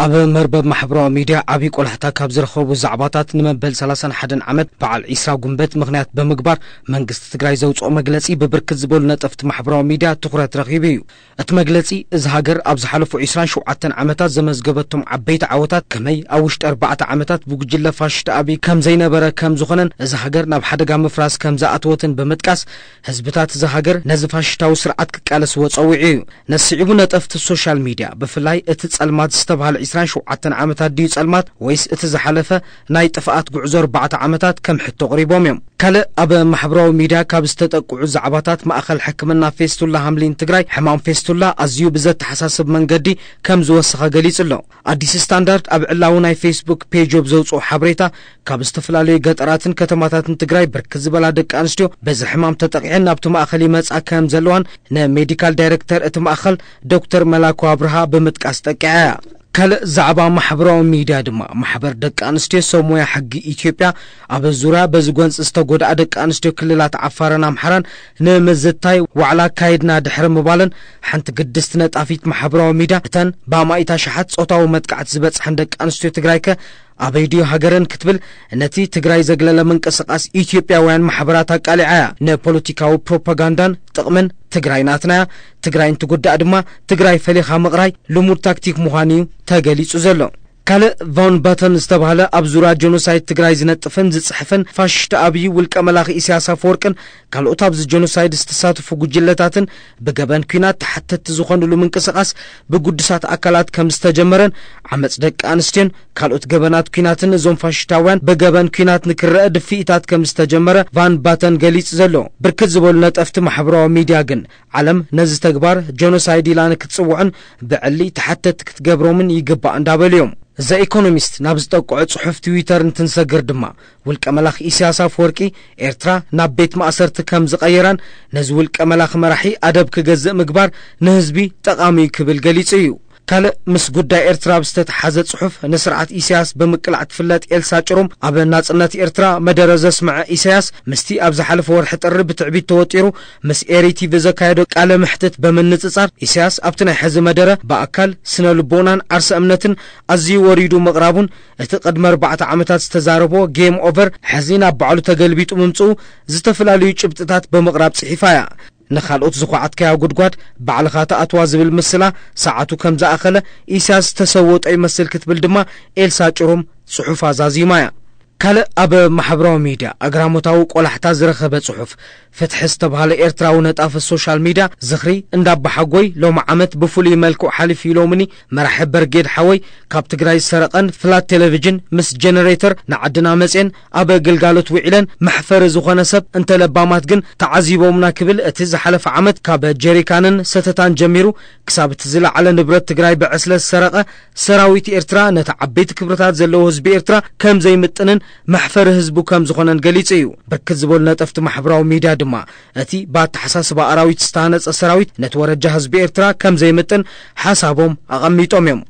ኣብ መርበብ ማሕበራዊ ሚድያ ዓብዪ ቆላሕታ ካብ ዝረኸቡ ዛዕባታት፣ ንመበል ሰላሳን ሓደን ዓመት በዓል ዒስራ ጉንበት ምኽንያት ብምግባር መንግስቲ ትግራይ ዘውፅኦ መግለፂ ብብርክት ዝበሉ ነጠፍቲ ማሕበራዊ ሚድያ ትኹረት ረኺቡ እዩ። እቲ መግለፂ፣ እዚ ሃገር ኣብ ዝሓለፉ ዒስራን ሸውዓተን ዓመታት ዘመዝገበቶም ዓበይቲ ዓወታት ከመይ ኣብ ውሽጢ ኣርባዕተ ዓመታት ብጉጅለ ፋሽስት ኣብይ ከም ዘይነበረ ከም ዝኾነን፣ እዚ ሃገር ናብ ሓደጋ ምፍራስ ከም ዝኣተወትን ብምጥቃስ፣ ህዝብታት እዚ ሃገር ነዚ ፋሽስታዊ ስርዓት ክቃለስዎ ጸዊዑ እዩ። ነስዒቡ ነጠፍቲ ሶሻል ሚድያ፣ ብፍላይ እቲ ጸልማት ዝተባህለ ዒስራን ሸውዓተን ዓመታት ድዩ ጸልማት፣ ወይስ እቲ ዝሓለፈ ናይ ጥፍኣት ጉዕዞ ኣርባዕተ ዓመታት ከም ሕቶ ኣቕሪቦም እዮም። ካልእ ኣብ ማሕበራዊ ሚድያ ካብ ዝተጠቅዑ ዛዕባታት፣ ማእኸል ሕክምና ፌስቱላ ሃምሊን ትግራይ ሕማም ፌስቱላ ኣዝዩ ብዘተሓሳስብ መንገዲ ከም ዝወሰኸ ገሊጹ ኣሎ። ኣዲስ ስታንዳርድ ኣብ ዕላዊ ናይ ፌስቡክ ፔጅ ኣብ ዘውፅኦ ሓበሬታ፣ ካብ ዝተፈላለዩ ገጠራትን ከተማታትን ትግራይ ብርክት ዝበላ ደቂ ኣንስትዮ በዚ ሕማም ተጠቂዐን ናብቲ ማእኸል ይመፃ ከም ዘለዋን ንሜዲካል ዳይሬክተር እቲ ማእኸል ዶክተር መላኩ ኣብርሃ ብምጥቃስ ጠቂዓ እያ። ካልእ ዛዕባ ማሕበራዊ ሚድያ ድማ፣ ማሕበር ደቂ ኣንስትዮ ሰብ ሞያ ሕጊ ኢትዮጵያ ኣብ ዙርያ በዚ ጎንፂ ዝተጎድኣ ደቂ ኣንስትዮ ክልላት ዓፋርን ኣምሓራን ንምዝታይ ዋዕላ ኣካይድና ድሕሪ ምባለን፣ ሓንቲ ግድስቲ ነጣፊት ማሕበራዊ ሚድያ፣ እተን ብኣማኢት ኣሽሓት ጾታዊ መጥቃዕቲ ዝበጽሐን ደቂ ኣንስትዮ ትግራይ ከ ኣበይ ድዩ ሃገረን ክትብል፣ ነቲ ትግራይ ዘግለለ ምንቅስቃስ ኢትዮጵያውያን ማሕበራት ኣቃሊዓ እያ። ንፖለቲካዊ ፕሮፓጋንዳን ጥቕምን ትግራይ ናትና እያ፣ ትግራይ እንትጉዳእ ድማ ትግራይ ፈሊኻ ምቕራይ ልሙድ ታክቲክ ምዃኑ እዩ ተገሊጹ ዘሎ። ካልእ ቫን ባተን ዝተባህለ ኣብ ዙርያ ጀኖሳይድ ትግራይ ዝነጥፍን ዝጽሕፍን ፋሽስት ኣብይ፣ ውልቀ መላኺ ኢሳያስ ኣፈወርቅን ካልኦት ኣብዚ ጀኖሳይድ ዝተሳተፉ ጉጅለታትን ብገበን ኲናት ተሓተትቲ ዝኾኑሉ ምንቅስቓስ ብግዱሳት ኣካላት ከም ዝተጀመረን፣ ዓመፅ ደቂ ኣንስትዮን ካልኦት ገበናት ኲናትን እዞም ፋሽስታውያን ብገበን ኲናት ንክረአ ድፍኢታት ከም ዝተጀመረ ቫን ባተን ገሊጹ ዘሎ። ብርክት ዝበሉ ነጠፍቲ ማሕበራዊ ሚድያ ግን፣ ዓለም ነዚ ተግባር ጀኖሳይድ ኢላ ንክትጽውዖን ብዕሊ ተሓተትቲ ክትገብሮምን ይግባእ እንዳበሉ እዮም። ዘ ኢኮኖሚስት ናብ ዝጠቅዖ ጽሑፍ ትዊተር እንትንሰግር ድማ፣ ውልቀ መላኺ ኢሳያስ ኣፈወርቂ ኤርትራ ናብ ቤት ማእሰርቲ ከም ዝቐየራን፣ ነዚ ውልቀ መላኺ መራሒ ኣደብ ክገዝእ ምግባር ንህዝቢ ጠቓሚ እዩ ክብል ገሊጹ እዩ። ካልእ ምስ ጉዳይ ኤርትራ ብዝተተሓዘ ጽሑፍ፣ ንስርዓት ኢሳያስ ብምቅላዕ ትፍለጥ ኤልሳ ጭሩም፣ ኣብ ናጽነት ኤርትራ መደረ ዘስምዐ ኢሳያስ፣ ምስቲ ኣብ ዝሓለፈ ወርሒ ጥሪ ብትዕቢት ተወጢሩ ምስ ኤሪ ቲቪ ዘካየዶ ቃለ መሕትት ብምንጽጻር፣ ኢሳያስ ኣብቲ ናይ ሕዚ መደረ ብኣካል፣ ስነ ልቦናን ዓርሰ እምነትን ኣዝዩ ወሪዱ ምቕራቡን፣ እቲ ቅድሚ ኣርባዕተ ዓመታት ዝተዛረቦ ጌም ኦቨር ሕዚ ናብ ባዕሉ ተገልቢጡ ምምጽኡ፣ ዝተፈላለዩ ጭብጥታት ብምቕራብ ጽሒፋ እያ። ንኻልኦት ዝኹዓትካያ ጉድጓድ ባዕልኻ ትኣትዋ ዝብል ምስላ፣ ሰዓቱ ከም ዝኣኸለ ኢሳያስ ዝተሰወጦ ይመስል ክትብል ድማ ኤልሳ ጭሩም ጽሑፋ ዛዚማ እያ። ካልእ ኣብ ማሕበራዊ ሚድያ ኣግራሞታዊ ቆላሕታ ዝረኸበ ጽሑፍ፣ ፍትሒ ዝተባህለ ኤርትራዊ ነጣፊ ሶሻል ሚድያ፣ ዝኽሪ እንዳባሓጎይ ሎሚ ዓመት ብፍሉይ መልክዑ ሓሊፉ ኢሎምኒ መራሒ በርጌድ ሓወይ፣ ካብ ትግራይ ዝሰረቐን ፍላት ቴሌቪዥን ምስ ጀነሬተር ንዓድና መፅየን ኣብ ግልጋሎት ውዒለን፣ መሕፈሪ ዝኾነ ሰብ እንተ ለባማት ግን ተዓዚቦምና ክብል፣ እቲ ዝሓለፈ ዓመት ካብ ጀሪካንን ሰተታን ጀሚሩ ክሳብ እቲ ዝለዓለ ንብረት ትግራይ ብዕስለ ዝሰረቐ ሰራዊት ኤርትራ፣ ነቲ ዓበይቲ ክብርታት ዘለዎ ህዝቢ ኤርትራ ከም ዘይምጥንን መሕፈሪ ህዝቡ ከም ዝኾነን ገሊጹ እዩ። ብርክት ዝበሉ ነጠፍቲ ማሕበራዊ ሚድያ ድማ፣ እቲ ብኣተሓሳስባ ኣራዊት ዝተሃነጸ ሰራዊት ነቲ ወረጃ ህዝቢ ኤርትራ ከም ዘይምጥን ሓሳቦም ኣቐሚጦም እዮም።